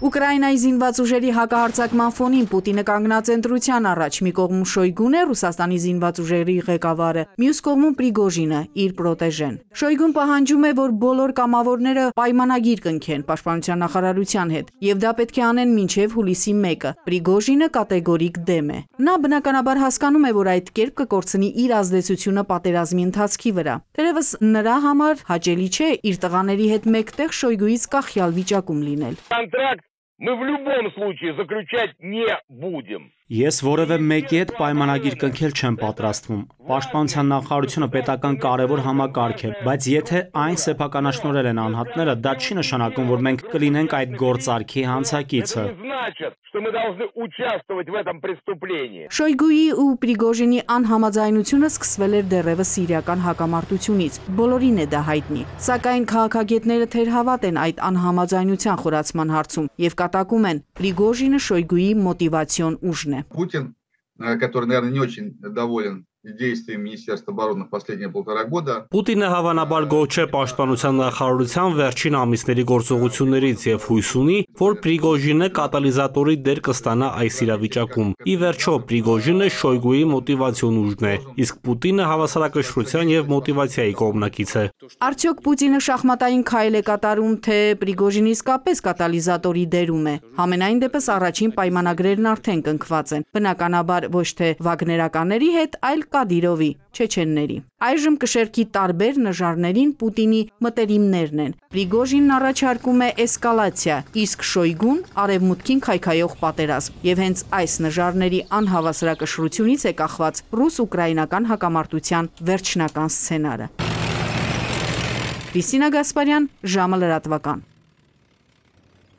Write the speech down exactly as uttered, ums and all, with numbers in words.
Ուկրաինայի զինված ուժերի հակահարձակման ֆոնին Պուտինը կանգնած ընտրության առաջ մի կողմում Շոյգուն է, Ռուսաստանի զինված ուժերի ղեկավարը, մյուս կողմում Պրիգոժինը, իր պրոտեժեն։ Շոյգուն պահանջում է, որ բոլոր կամավորները պայմանագիր կնքեն պաշտպանության նախարարության հետ, եւ դա պետք է անեն մինչեւ հուլիսի մեկը։ Պրիգոժինը կատեգորիկ դեմ է։ Նա բնականաբար հասկանում է, որ այդ կերպ կկորցնի իր ազդեցությունը պատերազմի ընթացքի վրա։ Թերևս նրա համար հաճելի չէ իր տղաների հետ մեկտեղ Շոյգուից կախյալ վիճակում լինել։ Мы в любом случае заключать не будем. Ես որևէ մեկի հետ պայմանագիր կնքել չեմ պատրաստվում։ Պաշտպանության նախարարությունը պետական կարևոր համակարգ է, բայց եթե այն սեփականաշնորհել են անհատները, դա չի նշանակում, որ մենք կլինենք այդ գործարքի հանցակիցը։ Շոյգուի ու Պրիգոժինի անհամաձայնությունը սկսվել էր դեռևս սիրիական հակամարտությունից։ Բոլորին է դա հայտնի։ Սակայն քաղաքագետները թերհավատ են այդ անհամաձայնության խորացման հարցում եւ կատակում են Պրիգոժինը Շոյգուի մոտիվացիոն ուժն է։ Путин, который, наверное, не очень доволен действиями Министерства обороны в последние полтора года. Պուտինը հավանաբար գոհ չէ պաշտպանության նախարարության վերջին ամիսների գործողություններից եւ հույս ունի, որ Պրիգոժինը կատալիզատորի դեր կստանա այս իրավիճակում։ Ի վերջո, Պրիգոժինը Շոյգուի մոտիվացիոն ուժն է, իսկ Պուտինը հավասարակշռության եւ մոտիվացիայի կողմնակից է։ Արդյոք Պուտինը շախմատային քայլ է կատարում, թե Պրիգոժինը իսկապես կատալիզատորի դերում է։ Համենայն դեպս առաջին պայմանագրերն արդեն կնքված են։ Բնականաբար ոչ թե վագներականների հետ, այլ Կադիրովի, չեչենների։ Այժմ կշերքի տարբեր նժարներին Պուտինի մտերիմներն են։ Պրիգոժինն առաջարկում է էսկալացիա, իսկ Շոյգուն արևմուտքին քայքայող պատերազմ։ Եվ հենց այս նժարների անհավասարակշռությունից է կախված ռուս-ուկրաինական հակամարտության վերջնական սցենարը։ Քրիստինա Գասպարյան, ժամը լրատվական։